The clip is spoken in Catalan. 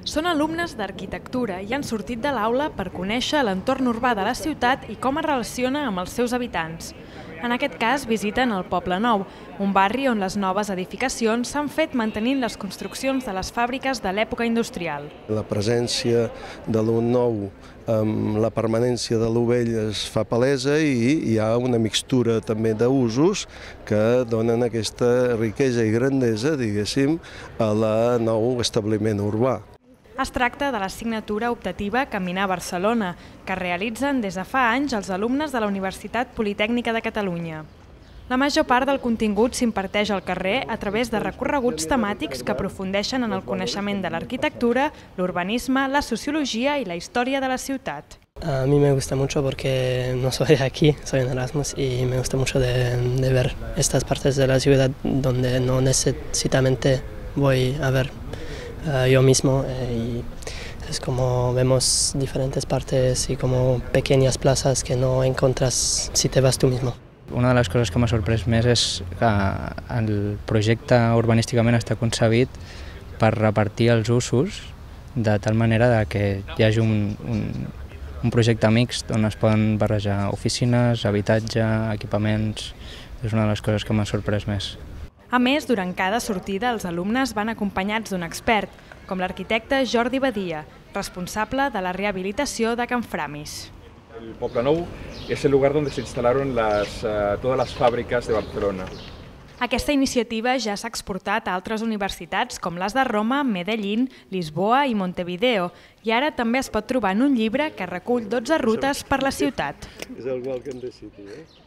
Són alumnes d'arquitectura i han sortit de l'aula per conèixer l'entorn urbà de la ciutat i com es relaciona amb els seus habitants. En aquest cas visiten el Poble Nou, un barri on les noves edificacions s'han fet mantenint les construccions de les fàbriques de l'època industrial. La presència de lo nou amb la permanència de lo vell es fa palesa i hi ha una mixtura també d'usos que donen aquesta riquesa i grandesa, diguéssim, a la nou establiment urbà. Es tracta de l'assignatura optativa Caminar Barcelona, que realitzen des de fa anys els alumnes de la Universitat Politècnica de Catalunya. La major part del contingut s'imparteix al carrer a través de recorreguts temàtics que aprofundeixen en el coneixement de l'arquitectura, l'urbanisme, la sociologia i la història de la ciutat. A mí me gusta mucho porque no soy de aquí, soy en Erasmus y me gusta mucho de ver estas partes de la ciudad donde no necesariamente voy a ver yo mismo y es como vemos diferentes partes y como pequeñas plazas que no encuentras si te vas tú mismo. Una de les coses que m'ha sorprès més és que el projecte urbanísticament està concebit per repartir els usos de tal manera que hi hagi un projecte mixt on es poden barrejar oficines, habitatge, equipaments. És una de les coses que m'ha sorprès més. A més, durant cada sortida els alumnes van acompanyats d'un expert, com l'arquitecte Jordi Badia, responsable de la rehabilitació de Can Framis. El Poble Nou es el lugar donde se instalaron todas las fábricas de Barcelona. Aquesta iniciativa ja s'ha exportat a altres universitats com les de Roma, Medellín, Lisboa i Montevideo i ara també es pot trobar en un llibre que recull 12 rutes per la ciutat. És el Welcome the City, eh?